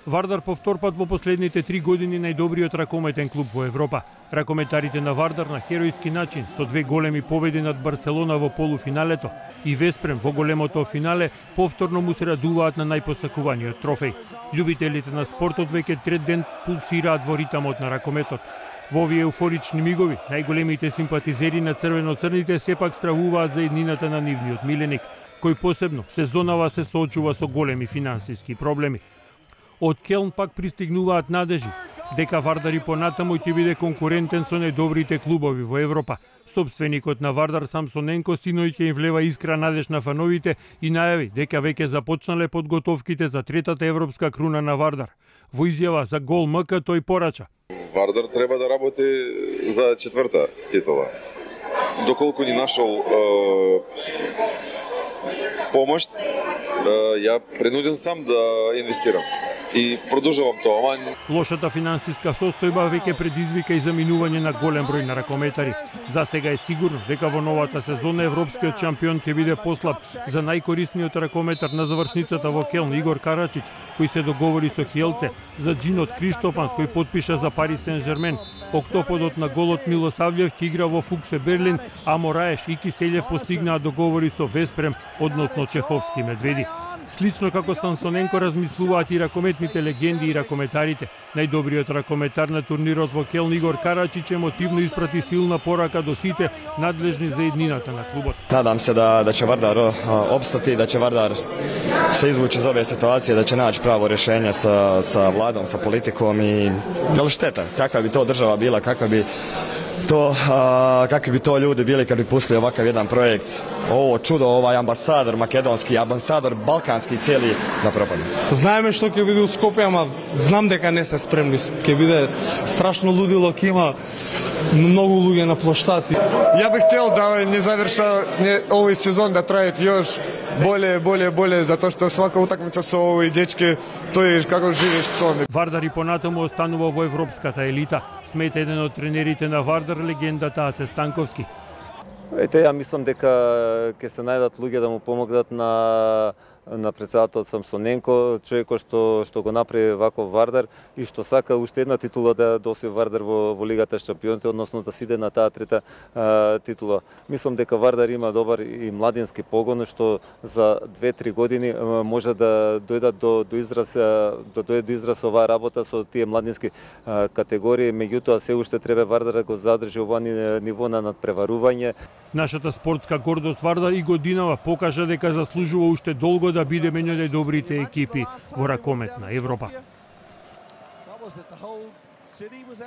Вардар по втор пат во последните 3 години најдобриот ракометен клуб во Европа. Ракометарите на Вардар на херојски начин со 2 големи победи над Барселона во полуфиналето и Веспрем во големото финале повторно му се радуваат на најпосакуваниот трофеј. Љубителите на спортот веќе трет ден пулсираат во ритамот на ракометот. Во овие еуфорични мигови, најголемите симпатизери на црвено-црните сепак стравуваат за еднината на нивниот миленик, кој посебно сезонава се соочува со големи финансиски проблеми. Од Келн пак пристигнуваат надежи дека Вардар и понатаму ќе биде конкурентен со најдобрите клубови во Европа. Собственикот на Вардар Самсоненко синој ќе им влева искра надеж на фановите и најави дека веќе започнале подготовките за третата европска круна на Вардар. Во изјава за Гол МК тој порача: Вардар треба да работи за четврта титула. Доколку ни нашол помош, ја принуден сам да инвестирам и продолжувам тоа. Лошата финансиска состојба веќе предизвика и заминување на голем број на ракометари. За сега е сигурно дека во новата сезона европскиот шампион ќе биде послаб за најкорисниот ракометар на завршницата во Келн Игор Карачич, кој се договори со Хелце, за Джинот Криштопанс кој потпиша за Парис Сен-Жермен. Октоподот на голот Милосављев ќе игра во Фуксе Берлин, а Мораеш и Киселев постигнаа договори со Веспрем, односно чеховски медведи. Слично како Самсоненко размислуваат и ракометните легенди и ракометарите. Најдобриот ракометар на турнирот во Келн Игор Карачич емотивно испрати силна порака до сите надлежни за еднината на клубот. Надам се да ќе Вардар опстати, да ќе Вардар се извучи из овие ситуации, да ќе најде право решение sa владом, sa политиком и дел штета, каква би то држава била, какви bi to ljudi bili kad bi pustili ovakav jedan projekt, ovo čudo, ovaj ambasador makedonski, ambasador balkanski cijeli da propadne. Знаеме што ќе биде у Скопје, ама знам дека не се спремни. Ќе биде страшно лудило, ќе има многу луѓе на площад. Я бих хотел да не заверша овој сезон, да трае још боле, затоа што свака утакмица со овој дечки, тој како живееш сон. Вардар и понатаму останува во европската елита, смета еден од тренерите на Вардар, легендата Аце Станковски. Ја мислам дека ќе се најдат луѓе да му помогнат на председателот Самсоненко, човекот што го направи вако Вардар и што сака уште една титула да освои Вардар во Лигата шампионите, односно да сиде на таа трета титула. Мислам дека Вардар има добар и младински погон што за 2-3 години може да дојдат до израз оваа работа со тие младински категории, меѓутоа се уште треба Вардар да го задржи ова ниво на надпреварување. Нашата спортска гордост Вардар и годинава покажа дека заслужува уште долго да биде меѓу најдобрите екипи во ракомет на Европа.